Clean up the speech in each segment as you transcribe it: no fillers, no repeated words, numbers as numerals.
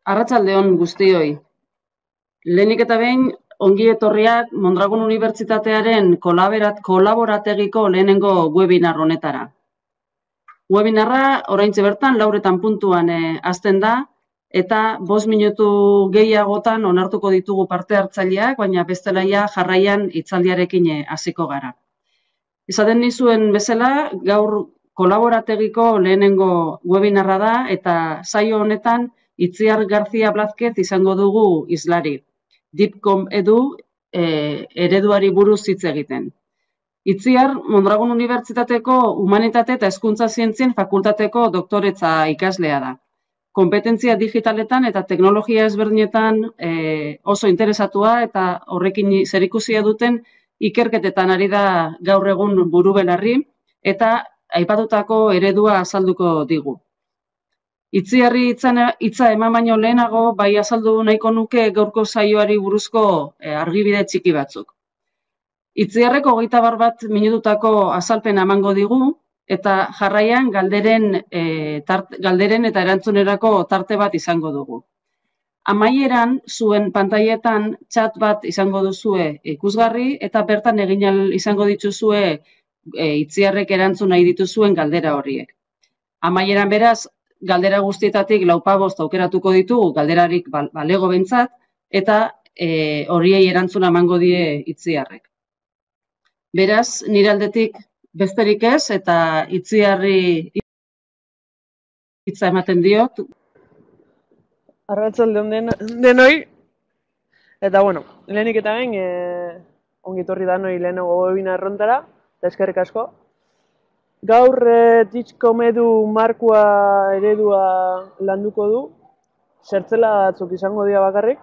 Arratsalde on guztioi. Lehenik eta behin, ongi etorriak Mondragon Unibertsitatearen kolaborategiko lehenengo webinar honetara. Webinarra oraintxe bertan 4 puntuan hasten da, eta 5 minutu gehiagotan onartuko ditugu parte hartzaileak, baina bestelaia jarraian hitzaldiarekin hasiko gara. Esaten nizuen bezala, gaur kolaborategiko lehenengo webinarra da, eta saio honetan Itziar García Blázquez izango dugu hizlari. Dipcom edu ereduari buruz hitz egiten. Itziar, Mondragon Unibertsitateko Humanitate eta Hezkuntza Zientzien Fakultateko doktoretza ikaslea da. Konpetentzia digitaletan eta teknologia ezberdinetan oso interesatua eta horrekin zerikusia duten ikerketetan ari da gaur egun burubelarri eta aipatutako eredua azalduko digu. Itziarri hitza eman baino lehenago, bai azaldu nahiko nuke gaurko saioari buruzko argibide txiki batzuk. Itziarrek 21 minututako azalpena emango digu, eta jarraian galderen eta erantzunerako tarte bat izango dugu. Amaieran, zuen pantailetan chat bat izango duzue ikusgarri, eta bertan egin izango dituzue Itziarrek erantzun nahi dituzuen galdera horiek. Amaieran beraz, galdera guztietatik 4-5 aukeratuko ditugu, galderarik balego behintzat, eta horiei erantzuna emango die Itziarrek. Beraz, nire aldetik besterik ez, eta Itziarri hitza ematen diot. Arratsalde on denoi, eta lehenik eta behin, ongi etorri danoi lehenago webinar hontara, eta eskerrik asko. Gaur Dipcom edu markoa eredua landuko du, zertzela batzuk izango dira bakarrik,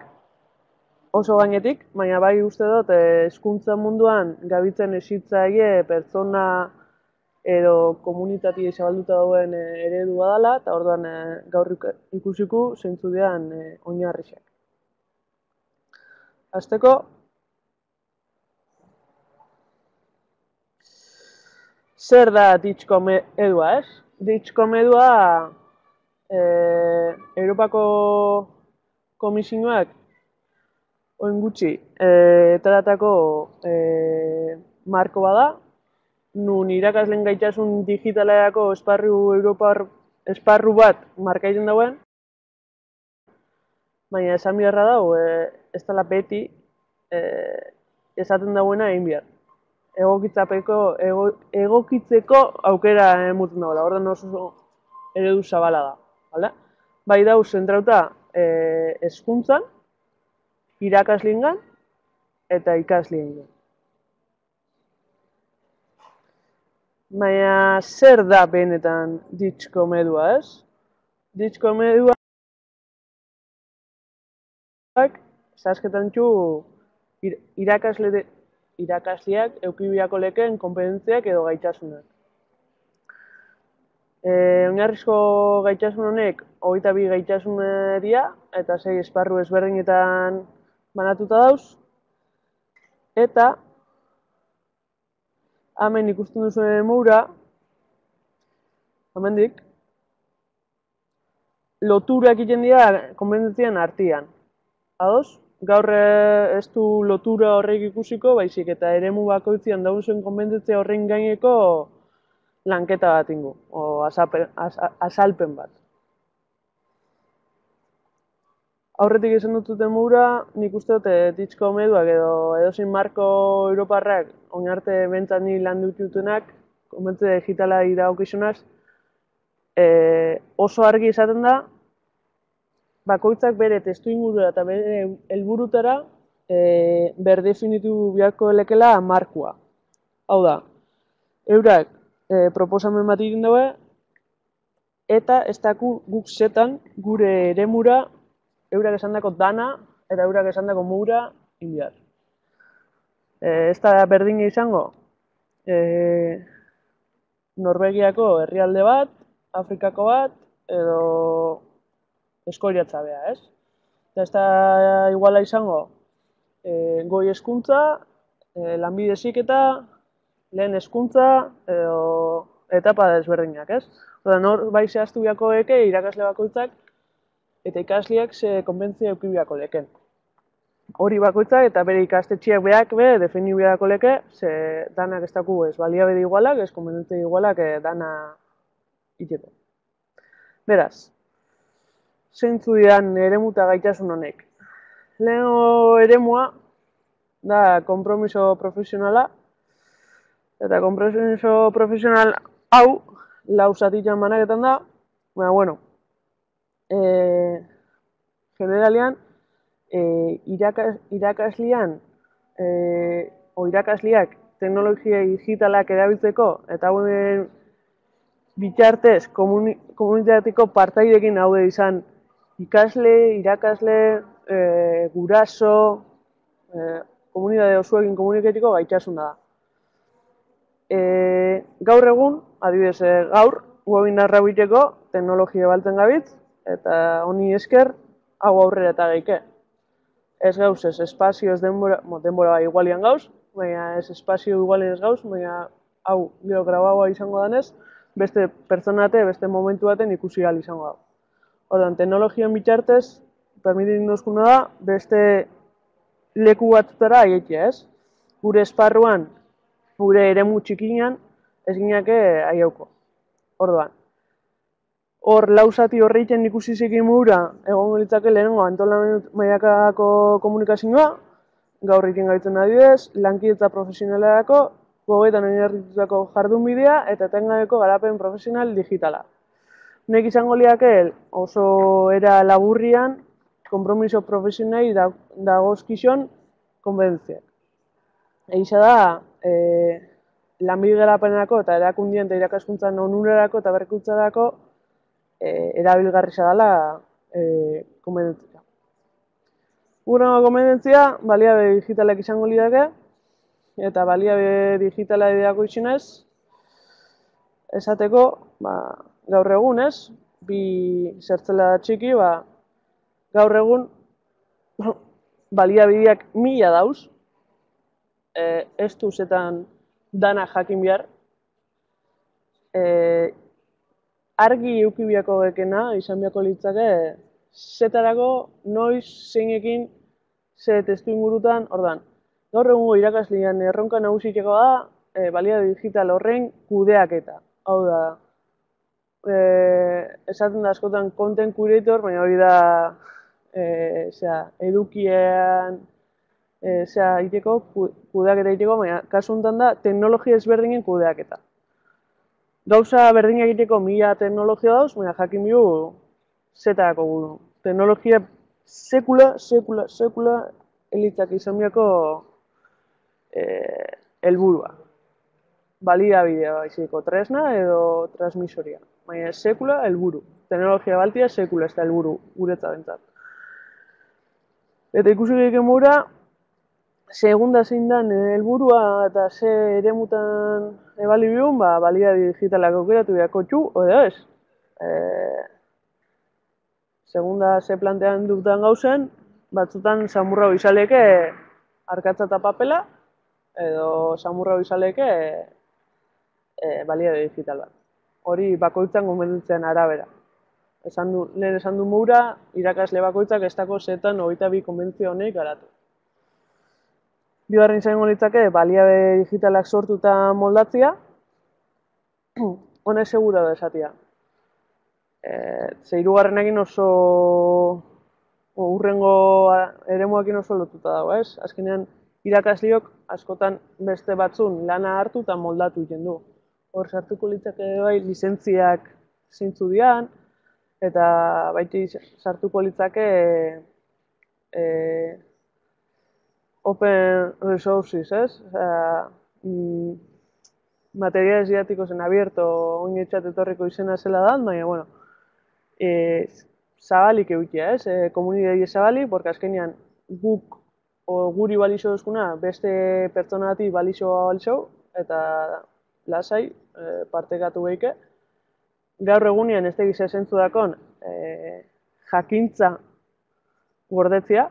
oso gainetik, baina bai uste dut hezkuntza munduan gabitzen hezitzaile pertsona edo komunitatea zabalduta dauen eredua dela, eta orduan gaur ikusiko zeintzu diren oinarriak. Hasteko, zer da Dipcom edua, ez? Dipcom edua Europako Komisioak orain gutxi ateratako marko bada, nun irakasleen gaitasun digitalerako Europar esparru bat markatzen dauen, baina esan beharra dago, ez dela beti esaten dauena egin behar. Egokitzeko aukera emuten dagoela, orduan oso eredu zabala da. Bai dau zentrauta hezkuntzan, irakasleengan eta ikasleengan. Baina zer da benetan Dipcom edua, ez? Dipcom eduak zehazketan txu irakasleak eduki beharko lekeen konpetentziak edo gaitasunak. Oinarrizko gaitasun honek 22 gaitasun dira, eta 6 esparru ezberdinetan banatuta dauz, eta hemen ikusten duzuen mura, hemendik, loturak egiten dira konpetentzien artean. Ados? Gaur ez du lotura horrek ikusiko, baizik eta eremu bakoitzean dauden konpetentzia horren gaineko lanketa bat ingo, o azalpen bat. Aurretik esan dututen mura, nik uste dut Dipcom eduak edo edozein marko europarrak orain arte behintzat ni landu ditutenak, konpetentzia digitala dagokionez, oso argi izaten da, bakoitzak bere testuingurura eta bere helburutara berdefinitu beharko lekela markoa. Hau da, eurak proposamen bat egin daue, eta ez daku guk zetan gure eremura eurak esandako dana eta eurak esandako mura egin behar. Ez da berdina izango, Norvegiako herrialde bat, Afrikako bat, edo Eskoriatza bea, ez? Eta ez da iguala izango goi hezkuntza, lanbide heziketa, lehen hezkuntza edo etapa desberdinak, ez? Hor bai zehaztu beharko eke irakasle bakoitzak eta ikasleak ze konbentzia eduki beharko leken. Hori bakoitza eta bere ikastetxeak berak defini beharko leke, ze danak ez daku ez baliabide igualak, ez konbentzia igualak dana iteko. Beraz, zeintzu dian eremu eta gaitasun honek. Lehenengo eremua da konpromiso profesionala, eta konpromiso profesional hau lau zatitan banaketan da, baina, bueno, generalian, irakaslean o irakasleak teknologia digitalak erabiltzeko eta hauen bitartez komunitateko partaidekin haude izan ikasle, irakasle, guraso, komunitate osoekin komunikatiko gaitasuna da. Gaur egun, adibidez, gaur webinarra egiteko teknologia baltzen gabitz, eta honi esker hau aurrera eta geike. Ez gauz, ez espazio, ez denbora bai igualian gauz, baina ez espazio igualian ez gauz, baina hau gero grabagoa izango danez, beste pertsonate, beste momentu baten ikusi ahal izango da. Orduan, teknologian bitartez, permititzen duzkuna da, beste leku batzutara aietia, ez? Gure esparruan, gure eremu txikinan, ez gineke aiauko. Orduan, hor lauzati horreiten ikusi zekin mura, egon litzake lehenengo antolamendu mailakako komunikazioa, gaur egiten gaitzen adibidez, lankidetza profesionalerako, gogoetan oinarritutako jardunbidea eta etengabeko garapen profesional digitala. Nek izango liake oso era laburrian, konpromiso profesionali dagozkizon konbentziak. Eixa da, lanbide garapenerako eta erakundien eta irakaskuntzan onurarako eta berrikuntzarako erabilgarria dela konbentzia. Urrengo konbentzia, baliabe digitalak izango lidake, eta baliabe digitala ideako izinez, esateko, gaur egun ez, bi zertzela txiki, gaur egun baliabideak 1000 dauz, ez du zetan dana jakin behar, argi eukibiako gekena, izan biako litzake, zetarako, noiz, zeinekin, ze testu ingurutan, ordan. Gaur egungo irakaslean erronka nagusiteko da, baliabide digital horren kudeaketa. Hau da, esaten da askotan content curator, baina hori da, edukien, iteko, kudeaketa iteko, baina kasu honetan da, teknologia ezberdinen kudeaketa. Gauza berdina egiteko 1000 teknologia dauz, baina jakin bihu zetarako gudu. Teknologia sekula elitzak izan biako helburua. Baliabidea baiziko tresna edo transmisoria. Baina sekula helburu. Teknologia baltia sekula ez da helburu guretza bentzat. Eta ikusi gehien mura, segunda zein dan helburua eta ze eremutan ebali bihun, baliabide digitalak aukeratu beharko txu, edo ez. Segunda ze plantean dutan gauzen, batzutan samurra izaleke arkatza eta papela, edo samurra izaleke baliabide digital bat. Hori bakoitzan konbentzitzen arabera. Lehen esan du mura, irakasle bakoitzak ez dako zetan 22 konbentzio honek garatu. Bigarren izango litzake, baliabide digitalak sortu eta moldatzia, honek segura da esatia. Ze hirugarrenekin oso urrengo eremuakin oso lotuta dago, ez? Azkenean, irakasleok askotan beste batzun lana hartu eta moldatu egiten du. Hor sartuko litzake bai lizentziak zeintzu dian, eta baiti sartuko litzake open resources, ez? Materiales didácticos en abierto, oinetxat etorriko izena zela da, baina, bueno, zabalik eukia, ez? Komunidade zabalik, porque azkenean guk guri balixo duzkuna beste pertsonati balixo balixo, eta lasai partekatu behike. Gaur egunean ez tegiz esentzu dakon jakintza gordetzia,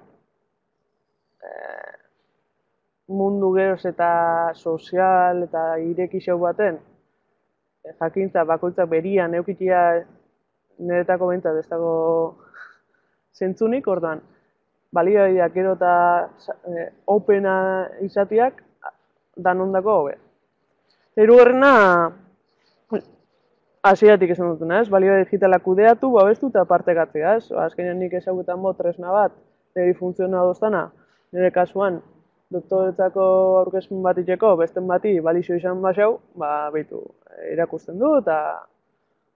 mundu geroz eta sozial eta irekixau baten jakintza bakoitzak berian eukitia niretako bentzat ez dago zentzunik, orduan, baliabideak gero eta opena izateak danondako hobe. Hirugarrena, hasieratik esan dutuna, ez? Baliabide digitalak kudeatu, babestu eta partekatzea, ez? Azkenean nik ezagutan bo tresna bat, niri funtziona doztana, nire kasuan, doktoretzako aurkezpen bat itxeko, besten bati balixo izan basau, behitu, irakusten du, eta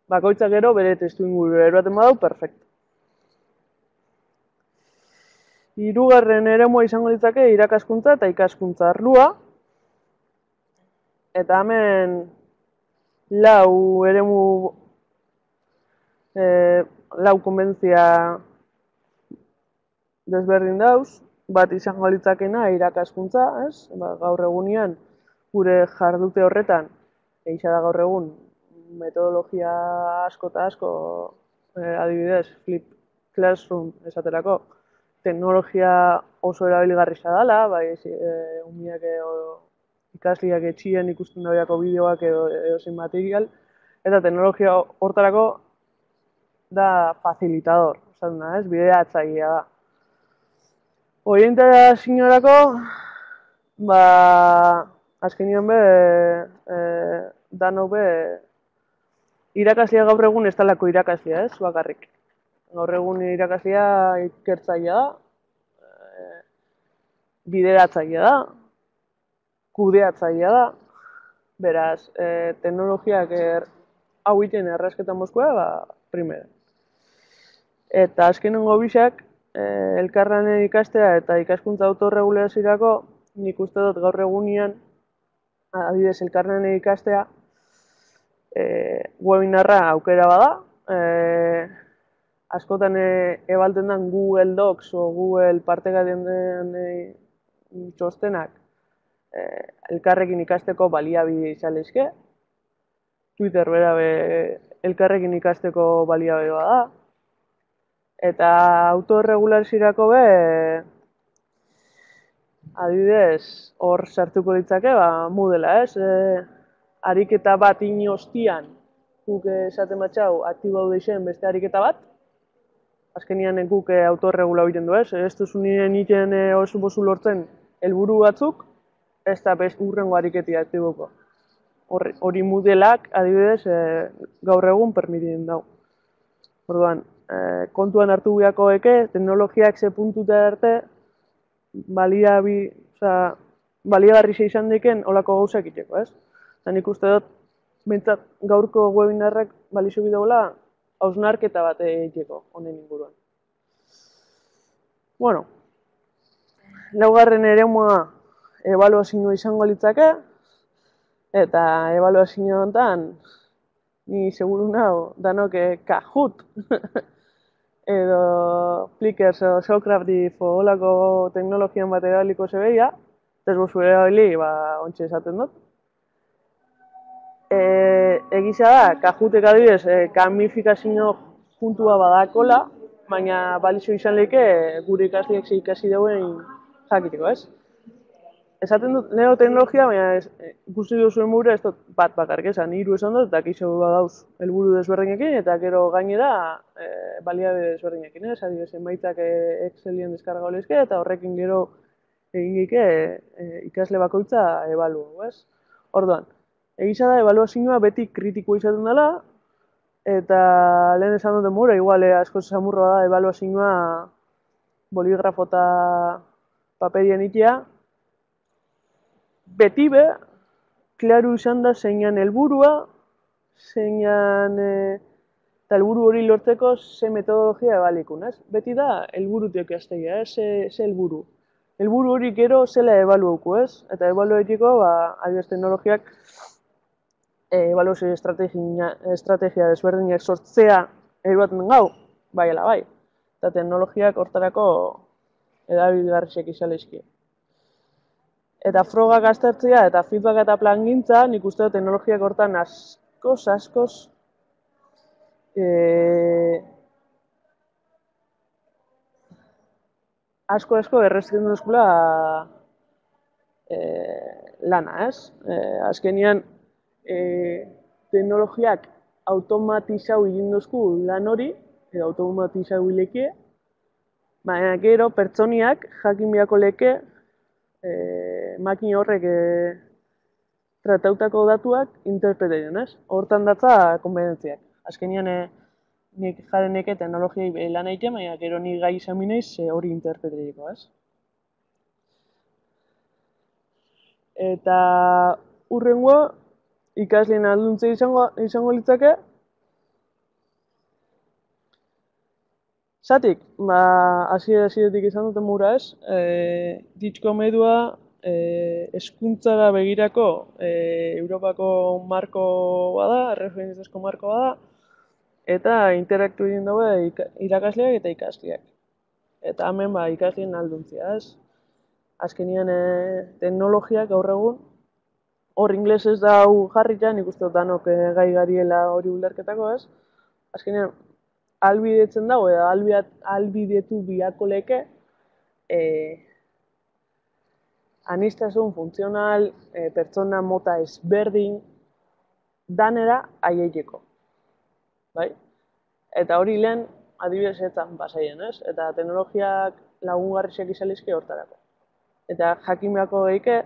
bakoitzak gero bere testu inguru eroaten badau, perfecto. Hirugarren eremua izango ditzake irakaskuntza eta ikaskuntza arlua. Eta hemen lau eremu, lau konbentzia desberdin dauz. Bat izango litzakena irakaskuntza, ez? Gaur egunean gure jardute horretan, egisa da gaur egun, metodologia asko eta asko, adibidez, flip classroom esaterako, teknologia oso erabiligarria dela, bai, umiak ikasliak etxien ikusten dagoako bideoak edo zein material, eta teknologia hortarako da facilitador, esan da, ez? Bideatzailea da. Orientazioarako, azkenean danok irakaslea gaur egun ez talako irakaslea, ez? Bakarrik. Gaur egun irakaslea ikertzailea da, bideratzailea da, kudeatzailea da, beraz, teknologiak hau iten errazketan mozkoa, primera. Eta azkenengo bisak, elkarlanen ikastea eta ikaskuntza autorregulaziorako, nik uste dut gaur egunean, adibidez, elkarlanen ikastea, webinarra aukera bada, askotan ebalten den Google Docs o Google partekatzen den txostenak, elkarrekin ikasteko baliabide izan lezke. Twitter bera elkarrekin ikasteko baliabide bada. Eta autorregulaziorako adibidez, hor sartuko ditzake, Moodle, ez? Ariketa bat inostian, guk esaten batxau, aktibo deixen beste ariketa bat, azkenian guk autorregula egiten du, ez? Ez duzu nire niten oso bozu lortzen helburu batzuk, ez da urrengo ariketi aktiboko. Hori Moodleak, adibidez, gaur egun permitien dau. Orduan, kontuan hartu biako teknologiak ze puntuta arte, baliagarri izan diken olako gauzak itxeko, ez? Eta nik uste dut, bentsat gaurko webinarrak balixo bideola, hausnarketa bat itxeko, honen inguruan. Bueno, laugarren eremua ebaluazioa izango litzake, eta ebaluazio honetan, ni seguru nago, danok Kahoot, edo Plickers edo Socrative olako teknologian bat erabiliko zebeia, ez bozu erabili, ontsa esaten dut. Egisa da, Kahootek adibidez, gamifikazio puntua badakola, baina balixo izan leke gure ikasleak ze ikasi dauen jakiteko, ez? Esaten dut neoteknologia, baina ikusi duzuen mure ez dut bat bakarrik esan, hiru esan dut, eta kiso badauz helburu desberdinekin, eta gero gainera baliabide desberdinekin, ez? Adibidez, emaitzak Excelien deskarga olezke, eta horrekin gero egin ikasle bakoitza ebaluo, ez? Orduan, egisa da, ebaluazioa beti kritikoa izaten dela, eta lehen esan duten mure, igual asko zamurroa da ebaluazioa boligrafo eta paperien itea, beti klaru izan da zeinan helburua, zeinan eta helburu hori lortzeko ze metodologia ebalikun, ez? Beti da helburutik aztegia, ez? Ze helburu. Helburu hori gero zela ebaluauko, ez? Eta ebaluetiko, adibidez teknologiak ebaluazio estrategia desberdinak sortzea eruaten gau, bai ala bai. Eta teknologiak hortarako edabilgarriak izan lehizkie. Eta frogak aztertzea eta feedback eta plangintza, nik uste dut teknologiak hortan askoz asko errezken duzkula lana, ez? Azkenian, teknologiak automatizau egin duzku lan hori, edo automatizau hileke, Baina gero pertsoniak jakin beharko leke makina horrek tratautako datuak interpretatzen, ez? Hortan datza konbenentziak. Azkenean nik jaren neke teknologiai lan egiten, baina gero nik gai izan bineiz hori interpretatzeko, ez? Eta hurrengoa ikasleen alduntze izango litzake. Zatik, hasieratik izan duten mura ez, Ditxkom edua hezkuntzara begirako Europako marko bada, erreferentziazko marko bada, eta interaktu egin daue irakasleak eta ikasleak. Eta hemen ikasleen alduntzia ez. Azkenean teknologiak gaur egun, hor inglesez da hau jarritan, nik uste dut danok gai gariela hori ulerketako ez. Azkenean, albidetzen dago, edo albidetu biako leke aniztasun funtzional, pertsona mota ezberdin danera aieteko. Bai? Eta hori lehen adibidezetan basaien, ez? Eta teknologiak lagungarriak izalizke hortarako. Eta jakimeako geike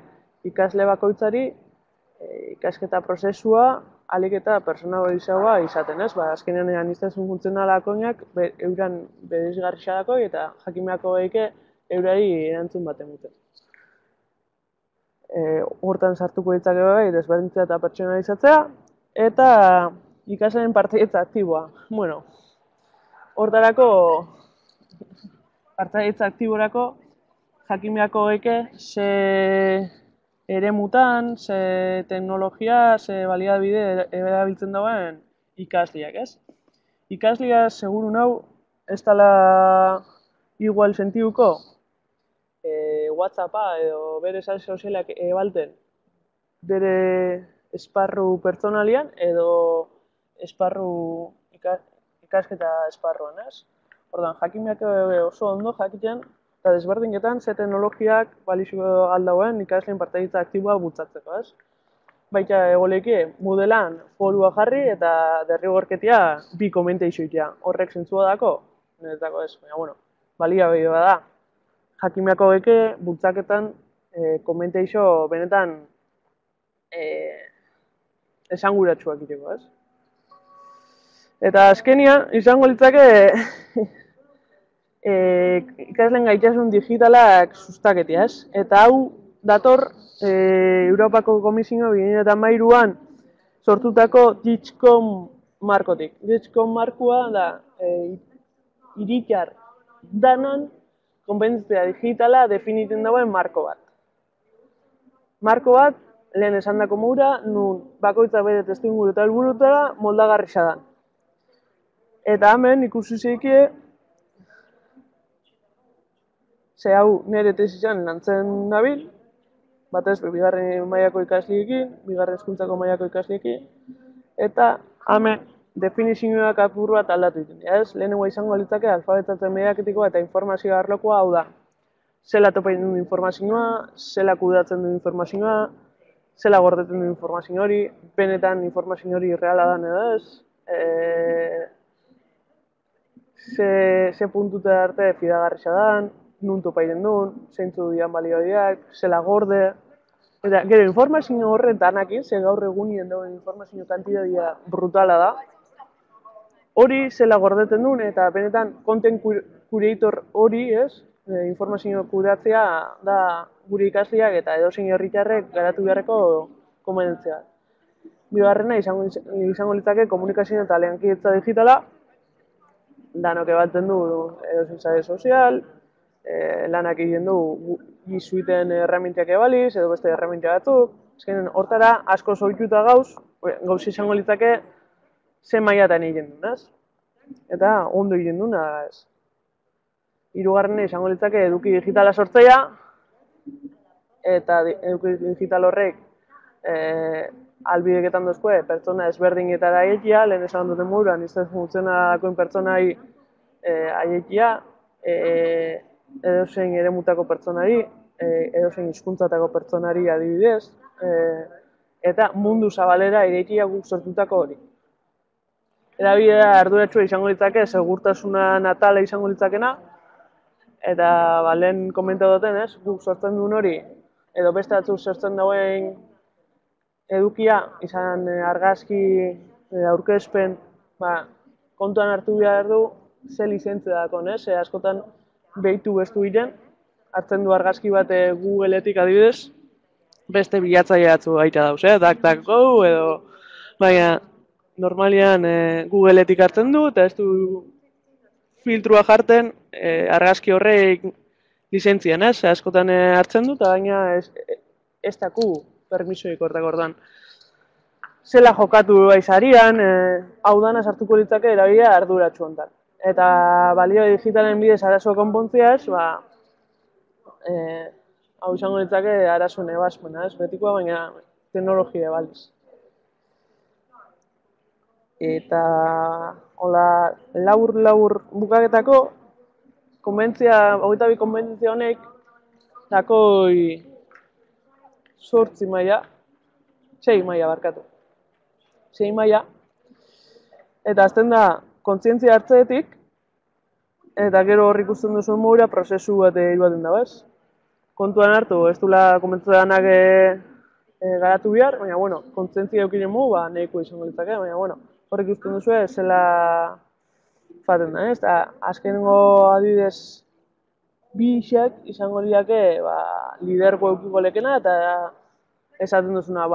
ikasle bakoitzari ikasketa prozesua alik eta personalizagoa izaten, ez? Azkenean aniztasun funtzionalakoinak euran bereizgarriak eta jakimeako geike eurari erantzun baten dute. Hortan sartuko ditzake bai, desberdintzea eta pertsonalizatzea, eta ikasleen partaidetza aktiboa. Bueno, hortarako partaidetza aktiborako jakimeako geike ze eremutan, ze teknologia, ze baliabide erabiltzen dauen ikasleak, ez? Ikaslea seguru nau ez dela igual sentiuko WhatsAppa edo bere sare sozialak ebalten bere esparru pertsonalian edo esparru ikasketa esparruan, ez? Ordan jakimeak oso ondo jakiten eta desberdinketan ze teknologiak balizuko aldauen ikasleen partaidetza aktiboa bultzatzeko, ez? Baita egoleke modelan forua jarri eta derrigorketia bi komenteixo itea. Horrek zentzua dako? Niretako ez, baina bueno, baliabide da. Jakimeako geke bultzaketan komenteixo benetan esanguratsuak iteko, ez? Eta azkenian izango litzake ikasleen gaitasun digitalak sustaketia, ez? Eta hau dator Europako Komisioa 2013an sortutako Ditxkom markotik. Ditxkom markoa da hiritar danon konpetentzia digitala definitzen dagoen marko bat. Marko bat, lehen esandako moura, nun bakoitza bere testuinguru eta helburutara moldagarria da. Eta hemen ikusi zeikie ze hau nire tesisan lantzen nabil, batez, bigarren mailako ikasliekin, bigarren hezkuntzako mailako ikasliekin, eta hemen definizioak apur bat aldatu ditu. Lehenengoa izango litzake alfabetatzen mediatikoa eta informazio arlokoa hau da. Zela topain duen informazioa, zela kudeatzen duen informazioa, zela gordetzen duen informazio hori, benetan informazio hori reala dan edo ez, ze puntuta arte fidagarria dan, nun topaiten duen, zeintzu dian balioideak, zela gorde. Eta gero informazio horren danakin, ze gaur egunien dauen informazio kantitatea brutala da, hori zela gordeten duen eta benetan content curator hori, ez, informazio kudeatzea da gure ikasleak eta edozein herritarrek garatu beharreko kompetentzia. Bigarrena izango litzake komunikazio eta lankidetza digitala, danok ebaltzen du edozein sare sozial, lanak egiten du G-Suiten erremintiak ebaliz, edo beste erremintia batzuk. Azkenean, hortara asko zoituta gauz izango litzake ze mailatan egiten duen, ez? Eta ondo egiten duen, ez? Hirugarrena izango litzake eduki digitala sortzea, eta eduki digital horrek albideketan dozkue pertsona ezberdinetara aietia, lehen esan duten moduan, izan funtzionakoen pertsonai aietia, edozein eremutako pertsonari, edozein hizkuntzatako pertsonari adibidez, eta mundu zabalera irekia guk sortutako hori. Erabidea arduratsua izango litzake, segurtasuna natala izango litzakena, Eta lehen komentatu duten, ez, guk sortzen duen hori, edo beste batzuk sortzen dauen edukia, izan argazki, aurkezpen, kontuan hartu behar du, ze lizentzia dakon, ez? Askotan behitu bestu diren, hartzen du argazki bat Googleetik adibidez, beste bilatzaile batzu gaita dauz, DuckDuckGo edo, baina normalian Googleetik hartzen du, eta ez du filtrua jarten argazki horrek lizentzian, ez? Askotan hartzen du, eta baina ez daku permisoik hortak ordan. Zela jokatu aizarian, hau dana sartuko litzake erabila arduratsu hontan. Eta balio digitalen bidez arazoa konpontziaz, hau izango litzake arazo nebazpena, ez? Betikoa, baina teknologia baliz. Eta hola, labur bukaketako, hogeita bi konbentzia honek, dakoi 8 maila, 6 maila barkatu. 6 maila, eta azten da kontzientzia hartzeetik, eta gero hor ikusten duzuen modura prozesu bat iruaten dago, ez? Kontuan hartu, ez dula komentzia danak garatu behar, baina, bueno, kontzientzia eukinen mu, nahiko izango litzake, baina, bueno, hor ikusten duzu zela faten da, ez? Eta azkenengo adibidez bi isek izango liake lidergo eukiko lekena, eta esaten duzuna,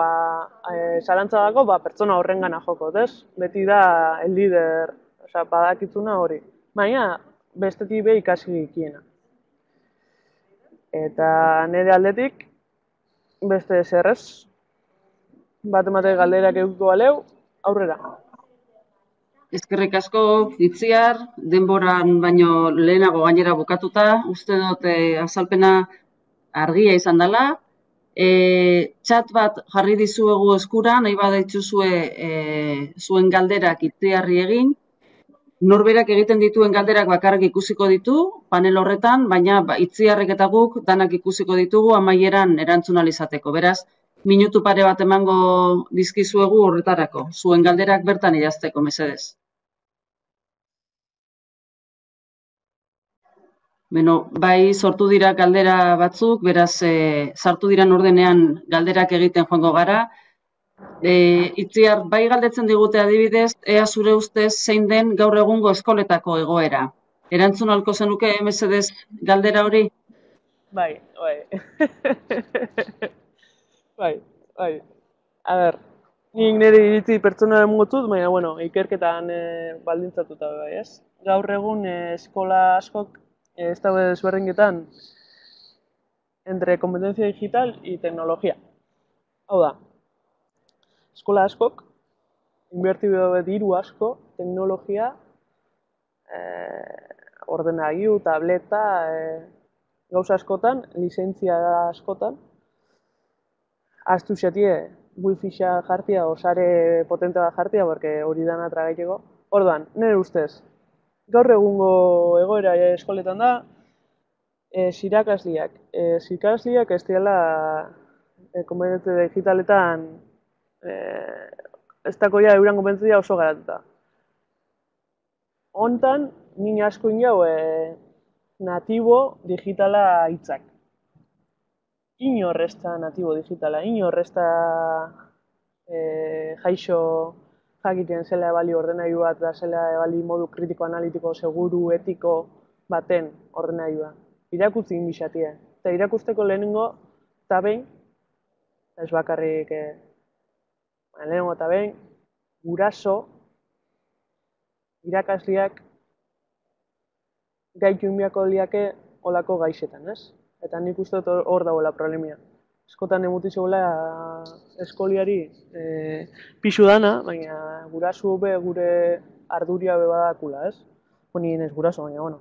zalantza dago, pertsona horrengana joko, ez? Beti da el lider, badakitzuna hori. Baina, bestetik be ikasi ikiena. Eta nire aldetik, beste zerrez, bat emate galderak eukiko baleu, aurrera. Eskerrik asko, Itziar, denboran baino lehenago gainera bukatuta, uste dut azalpena argia izan dela. Txat bat jarri dizuegu eskura, nahi badaituzue zuen galderak Itziarri egin. Norberak egiten dituen galderak bakarrik ikusiko ditu, panel horretan, baina Itziarrek eta guk danak ikusiko ditugu amaieran erantzun ahal izateko. Beraz, minutu pare bat emango dizkizuegu horretarako, zuen galderak bertan idazteko, mesedez. Beno, bai sortu dira galdera batzuk, beraz, sartu diran ordenean galderak egiten joango gara. Itziar, bai galdetzen digute adibidez, ea zure ustez zein den gaur egungo eskoletako egoera. Erantzun ahalko zenuke mesedez galdera hori? Bai. Bai. A ber, nik nire iritzi pertsona emotut, baina, bueno, ikerketan baldintzatuta bai, ez? Gaur egun eskola askok ez daude desberdinketan entre competencia digital y tecnología. Hau da, eskola askok, inbertidu diru asko, teknologia, ordenagailu, tableta, gauza askotan, lizentzia askotan, aztu xatie, wifi-xa jartia, osare potente bat jartia, porque hori dana tragaiteko. Orduan, nire ustez, gaur egungo egoera eskoletan da, irakasleak. Irakasleak ez dira konpetentzia digitaletan ez dakoia euran konpetentzia oso garatuta. Hontan, nina asko inau natibo digitala hitzak. Inor ez da natibo digitala, inor ez da jaixo jakiten zela ebali ordenagailu bat da zela ebali modu kritiko, analitiko, seguru, etiko baten ordenailua. Irakutzi inbizatia. Eta irakusteko lehenengo eta behin, ez bakarrik lehenengo eta behin, guraso, irakasleak gaitu inbiako liake olako gaixetan, ez? Eta nik uste dut hor dagoela problemia. Eskotan emutizioela eskoliari pixu dana, baina gurasu be gure arduria be badakula, ez? Nien ez guraso, baina, bueno,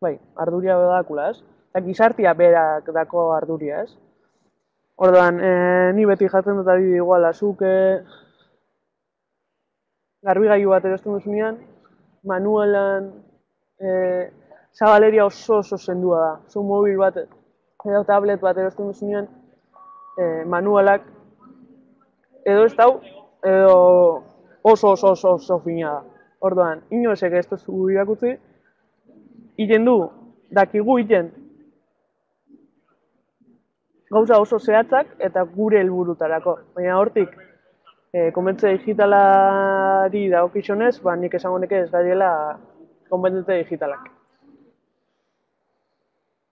bai, arduria be badakula, ez? Eta gizartia berak dako arduria, ez? Orduan, ni beti jatzen dut adibide iguala, zuk garbigailu bat erosten duzunean, manualan zabaleria oso zendua da. Zu mobil bat edo tablet bat erosten duzunean, manualak edo ez dau, edo oso fina da. Orduan, inoesek ez duzu irakutzi, iten du dakigu iten. Gauza oso zehatzak eta gure helburutarako. Baina hortik, konbentzia digitalari dagokionez, nik esango neke ez gaiela konbentzia digitalak.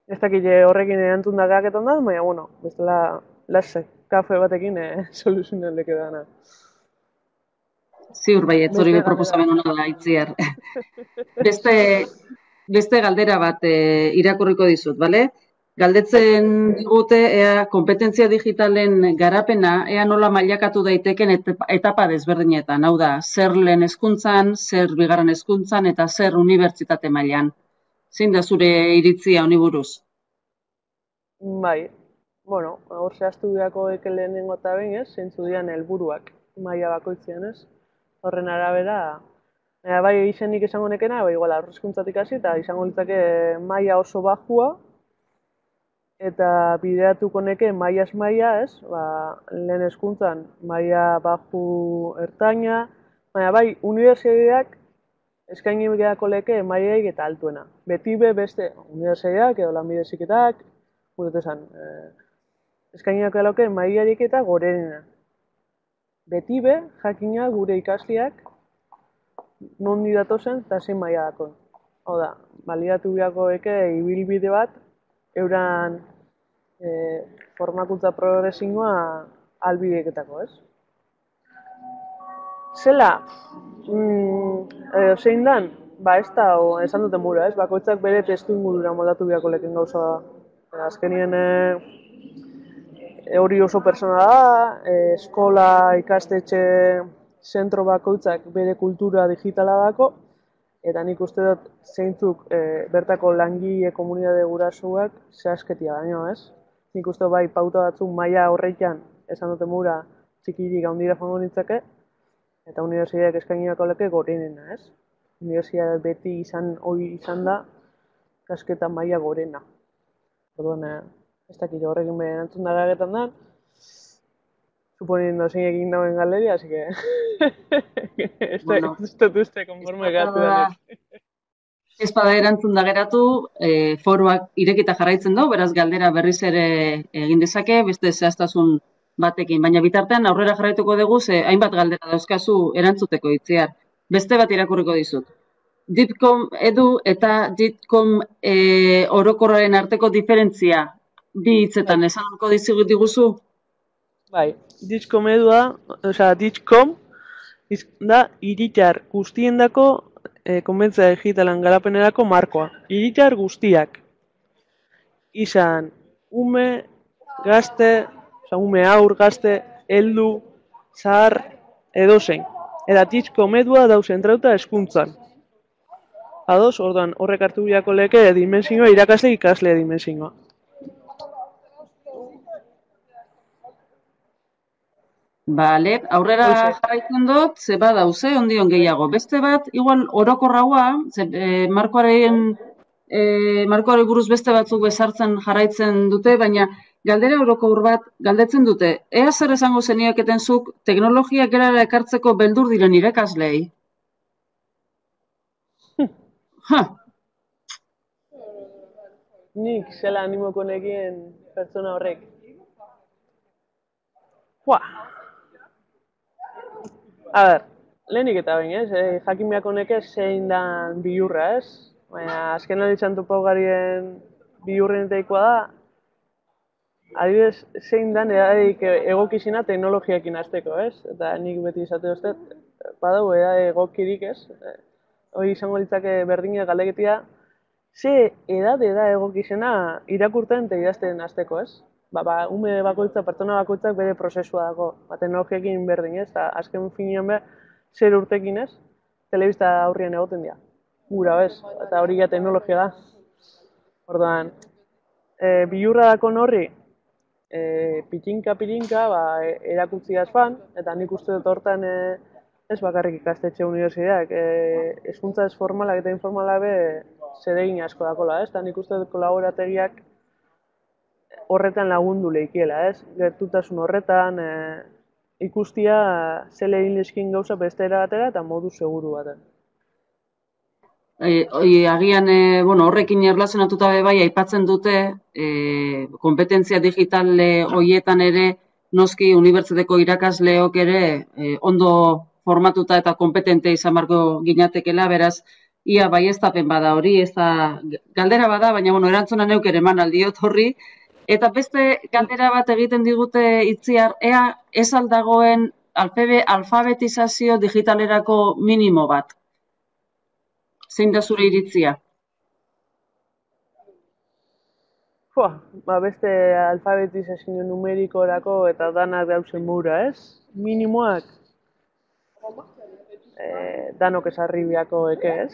Ez dakit horrekin erantzun da gaketan da, baina, bueno, bestela lasai, kafe batekin soluzionen leke dana. Ziur baietz, hori be proposamen hona da, Itziar. Beste galdera bat irakurriko dizut, bale? Galdetzen digute ea kompetentzia digitalen garapena ea nola mailakatu daiteken etapa desberdinetan. Hau da, zer lehen hezkuntzan, zer bigarren hezkuntzan eta zer unibertsitate mailan. Zein da zure iritzia honi buruz? Bai, bueno, hor zehaztu beharko eke lehenengo eta behin ez, zeintzu dian helburuak maila bakoitzean ez. Horren arabera, bai izenik izango nekena, bai igual aurrezkuntzatik hasi eta izango litzake maila oso bajua, eta bideratuko neke mailaz maila ez, lehen hezkuntzan maila baju ertaina, baina bai unibertsitateak eskaini beharko leke mailaik eta altuena. Beti be beste unibertsitateak edo lanbide heziketak, gure esan, eskaini beharko leke mailarik eta gorenena. Beti be jakina gure ikasleak nondi datozen eta zein maila dakon. Hau da, baliatu beharko eke ibilbide bat euran formakuntza progresingoa albideeketako, ez? Zela, zein dan, ez da, esan duten bura, ez? Bakoitzak bere testu ingurura moldatu beharko leken gauza da. Azkenien hori oso persona da, eskola, ikastetxe, zentro bakoitzak bere kultura digitala dako, eta nik uste dut zeintzuk bertako langile komunitate gurasoak zehazketia baino, ez? Nik uste bai pauta batzuk maila horreikan esan duten mura txikirik handira joango nintzake, eta unibertsitateak eskainiako leke gorenena, ez? Unibertsitateak beti izan da kasketa maila gorena. Orduan, ez dakit horrekin behin erantzun da gagetan da, suponiendo zein egin dauen galeria, así que ez dut uste konforme gatu denek. Ez bada erantzun da geratu, foroak irekita jarraitzen du, beraz galdera berriz ere egin dezake, beste zehaztasun batekin. Baina bitartean aurrera jarraituko dugu, ze hainbat galdera dauzkazu erantzuteko Itziar. Beste bat irakurriko dizut. DIPCOM edu eta DIPCOM orokorraren arteko diferentzia bi hitzetan esango diguzu? Bai, DIPCOM edua, DIPCOM da hiritar guztiendako konbentzia digitalan garapenerako markoa. Hiritar guztiak. Izan ume, gazte, ume aur, gazte, heldu, zahar, edozein. Eta DIPCOM edua dau zentrauta hezkuntzan. Ados, orduan, horrek hartu biako leke dimensioa, irakasle ikasle dimensioa. Bale, aurrera jarraitzen dut, ze badauze, ondion gehiago. Beste bat, igual orokorraua, markoari buruz beste batzuk bezartzen jarraitzen dute, baina galdera orokor bat galdetzen dute. Ea zer esango zeniaketen zuk teknologiak erara ekartzeko beldur diren irakaslei? Nik zela animoko nekien pertsona horrek. A ber, lehenik eta behin, ez? Jakin beharko neke zein dan bihurra, ez? Baina azken aditzen topau garien bihurrenetaikoa da, adibidez, zein dan egokizina teknologiakin azteko, ez? Eta nik beti izate uste, badau egokirik, ez? Hoi izango litzake berdina galdeketia, ze edade da egokizena irakurten eta idazten azteko, ez? Ume bakoitza, pertsona bakoitzak bere prozesua dago, teknologiakin berdin, ez? Azken finean behar, zer urtekin, ez? Telebista aurrien egoten dira. Gura, bez? Eta hori ja teknologia da. Orduan, bihurra dakon horri, pitinka, erakutsi azpan, eta nik uste dut hortan ez bakarrik ikastetxe unibertsitateak, hezkuntza ez formalak eta informalak be zeregin asko dakola, ez? Eta nik uste dut kolaborategiak horretan lagundu lehikiela, ez? Gertutasun horretan ikustia zele egin lezkin gauza beste erabatera eta modu seguru baten. Agian horrekin erlazionatuta bai aipatzen dute konpetentzia digital horietan ere noski unibertsitateko irakasleok ere ondo formatuta eta kompetente izan beharko ginatekela, beraz ia baieztapen bada hori, ez da galdera bada, baina erantzuna neuk ere eman aldiot horri. Eta beste galdera bat egiten digute Itziar, ea ez aldagoen alfabetizazio digitalerako minimo bat. Zein da zure iritzia? Beste alfabetizazio numerikorako eta danak dauzen mura, ez? Minimoak danok esarri biako eke, ez?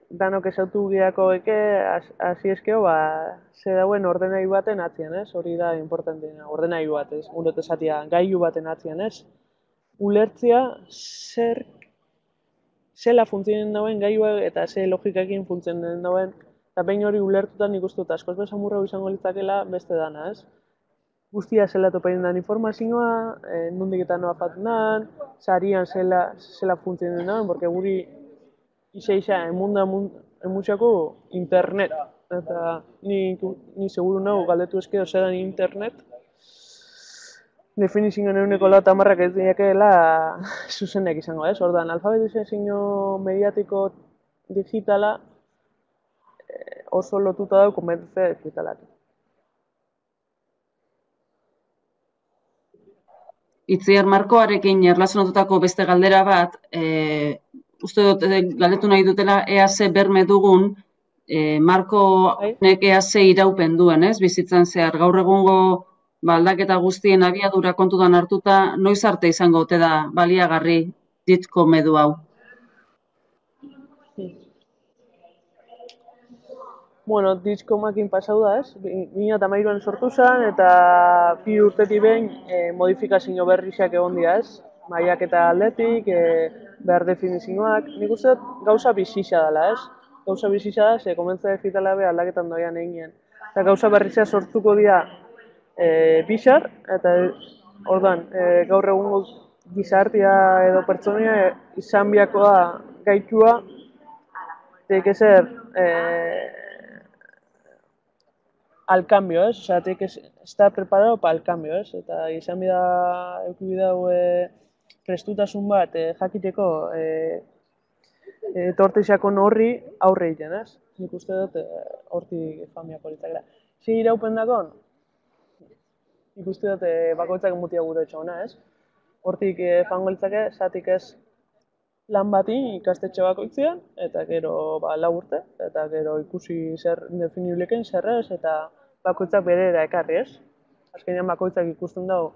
Danok esautu biako eke, hasi eskeo, ze dauen ordenailu baten atzian, ez? Hori da importanteena, ordenailu bat, ez? Urot esatia, gailu baten atzian, ez? Ulertzea zela funtzionen dauen gailua eta ze logikakin funtzionen dauen, eta behin hori ulertutan nik uste dut askoz bezamurra izango litzakela beste dana, ez? Guztia zela topainen dan informazioa, nondik eta noa fatunan, sarian zela funtzionen dauen, porque guri isa emutxako internet. Eta ni seguru nago galdetu eskeo zelan internet, definizioen eguneko lau tamarrak ez diakela zuzenek izango, ez? Ordan, alfabetizazio mediatiko digitala oso lotuta dago konbentzea digitalak. Itziar Markoarekin erlazionatutako beste galdera bat, uste dut galdetu nahi dutela ea ze berme dugun Markonek ea ze iraupen duen, ez? Bizitzan zehar gaur egungo aldaketa guztien abiadura kontutan hartuta, noiz arte izango ote da baliagarri ditko medu hau? Bueno, ditkomakin pasau da, ez? 2013an sortu zen eta 2 urtetik behin modifikazio berriak egon dira, ez? Mailak eta aldetik, behar definizioak, nik uste gauza bizitza dela, ez? Gauza bizitza da, ze komentza digitala be aldaketan doian eginen. Eta gauza berrizea sortuko dira bizar, eta ordan, gaur egungo gizartia edo pertsonia izan biakoa gaitua, tiene que ser al cambio, ez? Osea, tiene que estar preparado para el cambio, ez? Eta izan bida eukibidau prestutasun bat jakiteko etorteixako horri aurre egiten, ez? Nik uste dut hortik famiako litzakela. Zi iraupen dakon? Nik uste dut bakoitzak mutia gure etxona, ez? Hortik fango litzake, zatik ez lan bati ikastetxe bakoitzean, eta gero 4 urte, eta gero ikusi zer definibleken zerrez, eta bakoitzak berera ekarri, ez? Azkenean bakoitzak ikusten dago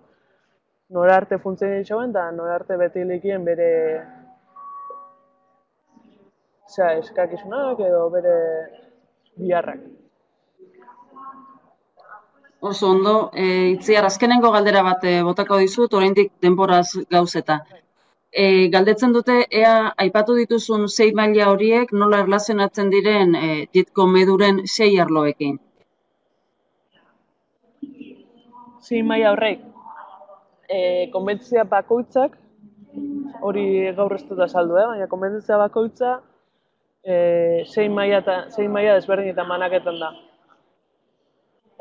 nora arte funtzioen itxauen, eta nora arte beti likien bere eskakizunak edo bere biharrak. Oso ondo, Itziar, azkenengo galdera bat botako dizut, oraindik denboraz gauzeta. Galdetzen dute, ea aipatu dituzun 6 maila horiek nola erlazionatzen diren ditko meduren 6 arloekin? 6 maila horrek, konbentzia bakoitzak, hori gaur ez dut azaldu, baina konbentzia bakoitza 6 maila desberdinetan banaketan da.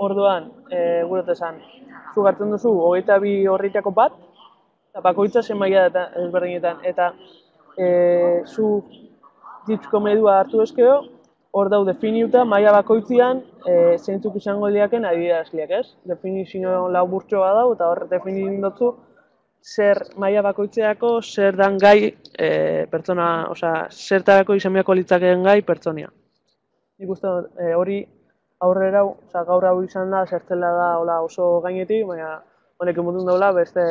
Orduan, gure esan, zu hartzen duzu 22 horritako bat, eta bakoitza 6 maila desberdinetan, eta zu ditko medua hartu eskeo, hor dau definiuta maila bakoitzean zeintzuk izango diaken adierazleak, ez? Definizio laburtxo bat dau, eta hor definitzen dutzu zer maila bakoitzeako zer dan gai pertsona, osea, zertarako izan biako litzakeen gai pertsonia. Nik uste hori aurrera, gaur hau izan da, zertzela da oso gainetik, baina honek emotun daula beste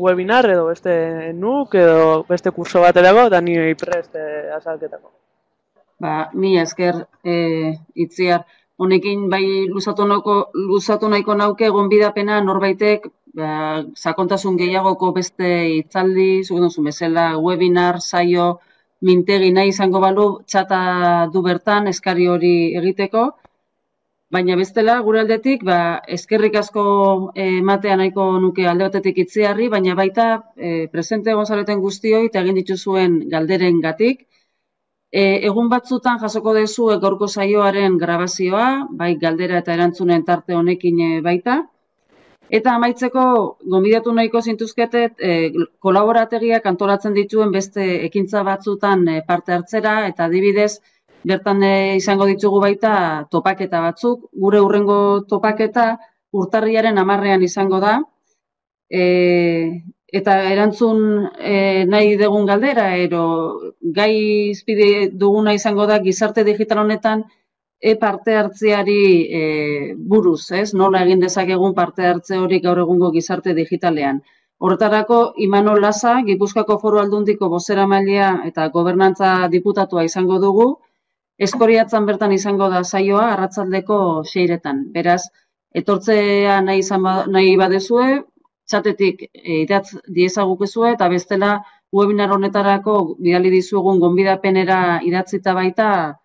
webinar edo beste NUC edo beste kurso baterako, eta ni prest azalketako. Mila esker, Itziar. Honekin bai luzatu nahiko nauke gonbidapena norbaitek sakontasun gehiagoko beste hitzaldi, zuk duzun bezala, webinar, saio, mintegi nahi izango balu, txata du bertan eskari hori egiteko. Baina bestela, gure aldetik, eskerrik asko ematea nahiko nuke alde batetik Itziarri, baina baita presente egon zareten guztioi eta egin dituzuen galderen gatik. Egun batzutan jasoko duzu gaurko saioaren grabazioa, bai galdera eta erantzunen tarte honekin baita. Eta amaitzeko, gonbidatu nahiko zintuzketet, kolaborategiak antolatzen dituen beste ekintza batzutan parte hartzera, eta adibidez, bertan izango ditugu baita topaketa batzuk. Gure hurrengo topaketa urtarriaren 10ean izango da, eta erantzun nahi dugun galdera, ero gai izpide duguna izango da gizarte digital honetan parte hartzeari buruz, ez? Nola egin dezakegun parte hartze hori gaur egungo gizarte digitalean. Horretarako, Imanol Laza, Gipuzkoako Foru Aldundiko bozeramailea eta gobernantza diputatua izango dugu, Eskoriatzan bertan izango da saioa arratsaldeko 6etan. Beraz, etortzea nahi badezue, txatetik idatz diezagukezue eta bestela webinar honetarako bidali dizuegun gonbidapenera idatzita baita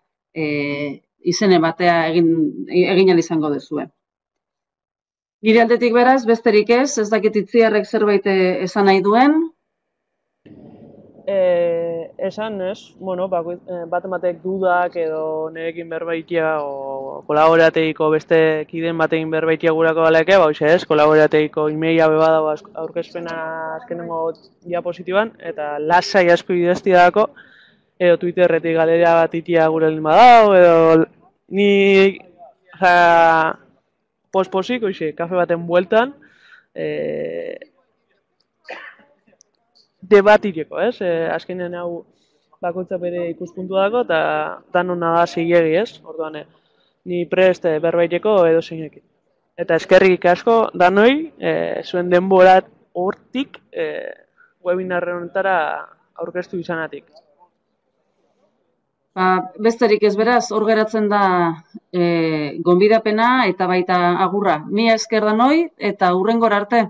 izene batea egin ahal izango dezue. Nire aldetik beraz, besterik ez dakit Itziarrek zerbait esan nahi duen. Esan ez, bueno, bat ematek dudak edo nirekin berbaitia o kolaborategiko beste kiden batekin berbaitia gurako galeke, ez, kolaborategiko emaila bebada aurkezpena azkenengo diapositiban, eta lasai asko idazti dako, edo Twitterretik galeria bat itia gure lin badao, edo ni posposik, kafe baten bueltan, debatireko, ez? Azkenean hau bakoitza bere ikuspuntu dago eta danona da zilegi, ez? Orduan, ni prest berbaiteko edo zeinekin. Eta eskerrik asko danoi, zuen denborat hortik webinar honetara aurkeztu izanatik. Besterik ez beraz, hor geratzen da gonbidapena eta baita agurra. Mila esker danoi eta hurrengora arte.